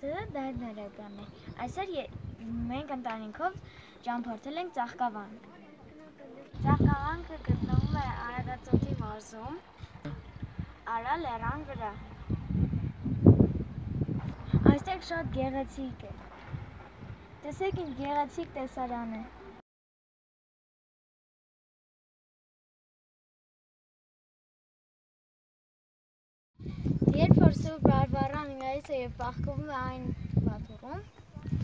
Դարդ նորականն է։ Այսօր մենք ընտանիքով ճամփորդել ենք Ծաղկավան։ Ծաղկավանքը գտնվում է Արագածոթի մարզում, Արա լեռան վրա։ Այստեղ շատ գեղեցիկ է։ Տեսեք ինչ գեղեցիկ տեսարան է։ Երբ որ Սուրբ Բարբառան գալիս է եւ պահկվում է այն պատուռում,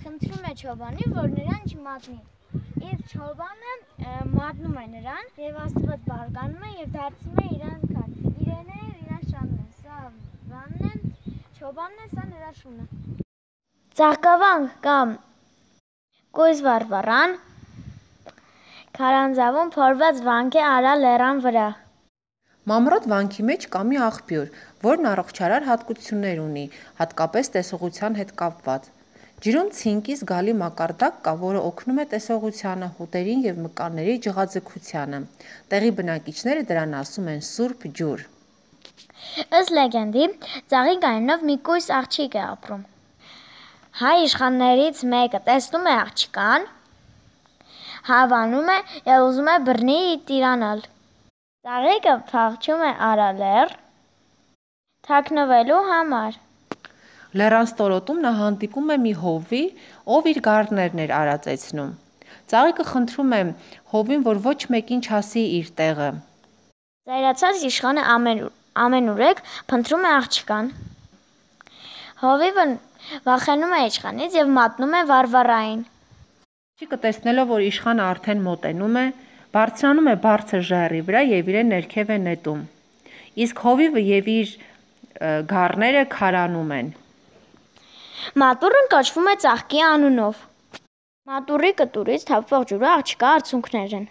խնդրում է Չոբանին, որ նրան չմատնի։ Իսկ Չոբանը մատնում է նրան եւ Աստված բարգանում է եւ դարձնում է իրան քար։ Իրենը իրան շանն է, սա Վանն է, Չոբանն է, սա նրա շունը։ Ծաղկավան կամ Կույս Բարբառան քարանձավում փորված վանք է Արա լեռան վրա։ Մամռոտ վանքի մեջ կա մի աղբյուր, որն առողջարար հատկություններ ունի, հատկապես տեսողության հետ կապված։ Ջրում ցինկի զգալի մակարդակ կա, որը օգնում է տեսողությանը, հոտերին եւ մկանների ջղաձգությանը։ Տեղի բնակիչները դրան ասում են Սուրբ ջուր։ Ըստ լեգենդի, ծաղիկ այնով մի կույս աղջիկ է ապրում։ Հայ իշխաններից մեկը տեսնում է աղջկան, հավանում է եւ ուզում է բռնի տիրանալ։ Ծաղիկը փախչում է Արա լեռ թաքնվելու համար։ Լեռան ստորոտում նա հանդիպում է մի հովվի, ով իր գառներն էր արածեցնում։ Ծաղիկը խնդրում է հովին, որ ոչ մեկին չասի իր տեղը։ Զայրացած իշխանը ամենուրեք փնտրում է աղջկան։ Հովիվը վախենում է իշխանից եւ մատնում է Վարվարային։ Աղջիկը տեսնելով, որ իշխանը արդեն մոտենում է, բարձրանում է բարձր ժայռի վրա եւ իրեն ներքև է նետում։ Իսկ հովիվը եւ իր գառները քարանում են։ Մատուռն կոչվում է Ծաղկի անունով։ Մատուռի կտուրից թափվող ջուրը աղջկա արցունքներ են։